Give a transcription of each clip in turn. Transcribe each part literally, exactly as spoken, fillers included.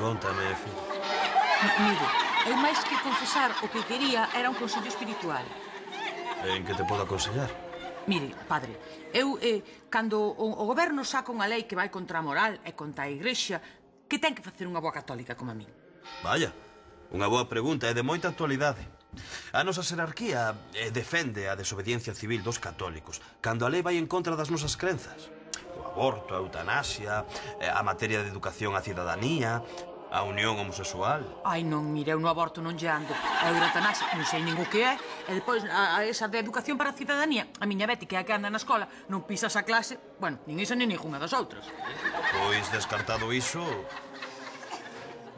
Contame, filho. Mire, eu máis que confesar o que quería era un consello espiritual. En que te podo aconsellar? Mire, padre, eu, eh, cando o, o goberno saca unha lei que vai contra a moral e contra a igrexa, que ten que facer unha boa católica como a min? Vaya, unha boa pregunta e de moita actualidade. A nosa xerarquía eh, defende a desobediencia civil dos católicos cando a lei vai en contra das nosas crenzas. O aborto, a eutanasia, eh, a materia de educación á cidadanía, a unión homosexual. Ai, non, mire, eu no aborto non lle ando. A eutanasia non sei nin o que é. E depois, a, a esa de educación para a cidadanía, a miña Betty, que é a que anda na escola, non pisa esa clase, bueno, nin isa nin ninguna das outras. Pois, descartado iso,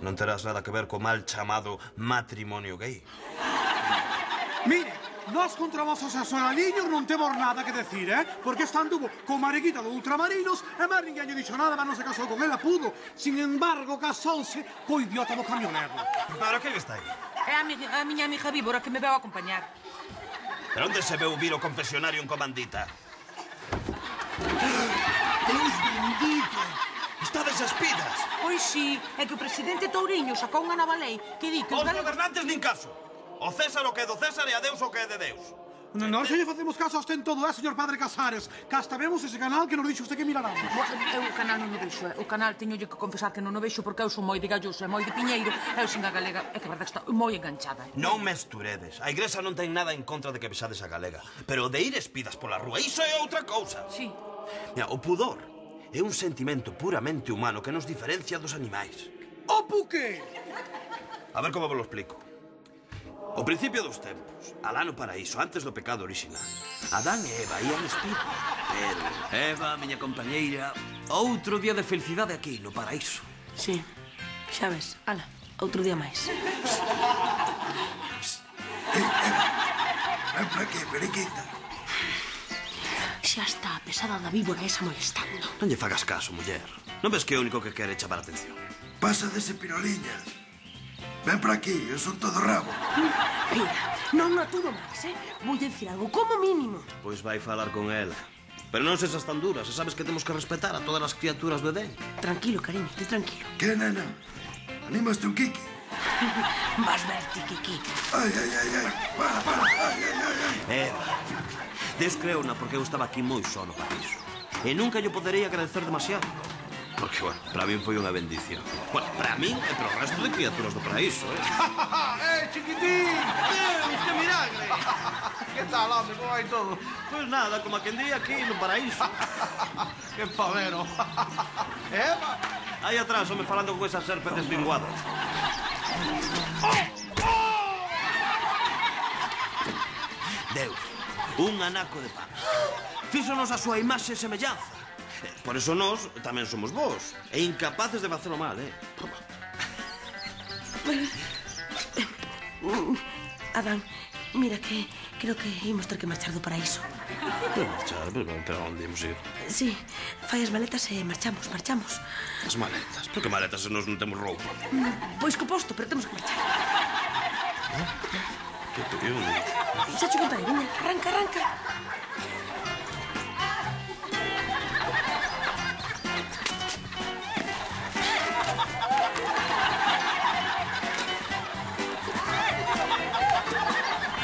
non terás nada que ver co mal chamado matrimonio gay. Mire, nós contra vosos asolaliños non temos nada que decir, eh? Porque esta anduvo co mariquita do Ultramarinos e máis ninguén lle dixo nada, mas non se casou con ela, pudo. Sin embargo, casouse co idiota do camionero. Pero que está aí? É a, mi, a miña amiga Víbora que me veu a acompañar. Pero onde se veu vir o confesionario en comandita? Deus bendito! Estades espidas! Pois sí, é que o presidente Touriño sacou unha nova lei que di que Os os galegos... gobernantes nin caso. O César o que é do César e a Deus o que é de Deus. Nós xa lle facemos caso a usted en todo, eh, señor Padre Casares. Que hasta vemos ese canal que nos dixo usted que miráramos. Eu o canal non o vexo, eh. O canal teñolle que confesar que non o vexo porque eu son moi de galloso e moi de piñeiro e eu sin a galega é que a verdade está moi enganchada. Non mesturedes. A igrexa non ten nada en contra de que vexades a galega. Pero de ir espidas pola rúa, iso é outra cousa. Sí. Mira, o pudor é un sentimento puramente humano que nos diferencia dos animais. O puque! A ver como vos lo explico. O principio dos tempos, alá no paraíso, antes do pecado original, Adán e Eva ían espir. Pero Eva, a miña compañeira, outro día de felicidade aquí, no paraíso. Sí, xa ves, ala, outro día máis. Ven para aquí, periquita. Xa está a pesada da víbora esa molestando. Non lle fagas caso, muller. Non ves que é o único que quere chamar a atención? Pasa dese piroliñas. Ven para aquí, eu son todo rabo. Mira, non aturo máis, eh? Vou dicir algo como mínimo. Pois vai falar con ela. Pero non sesas tan duras, e sabes que temos que respetar a todas as criaturas do Edén. Tranquilo, cariño, ti tranquilo. Que, nena? Animaste un kiki? Vas verte, Kiki. Ai, ai, ai, ai. Para, para. Ai, ai, ai, ai. Eva, Deus creona porque eu estaba aquí moi só no paraíso. E nunca yo podería agradecer demasiado. Porque, bueno, para min foi unha bendición. Bueno, para min e para o resto de criaturas do paraíso, eh? ¡Eh, chiquitín! Deus, que milagre! Que tal, home, como vai todo? Pois nada, como a quen di aquí no paraíso. Que pavero! Eva! Aí atrás, home, falando con esa serpe deslinguada. Deus, un anaco de pan. Fíxonos a súa imaxe e semellanza. Por eso nós tamén somos vos. E incapaces de facelo mal, eh? Adán, mira que creo que imos ter que marchar do paraíso. Pero marchar, pero, pero onde imos ir? Sí, fai as maletas e marchamos, marchamos. As maletas? Pero que maletas se nós non temos roupa? Pois co posto, pero temos que marchar. Que tío. Xa che contaré, viña, arranca, arranca.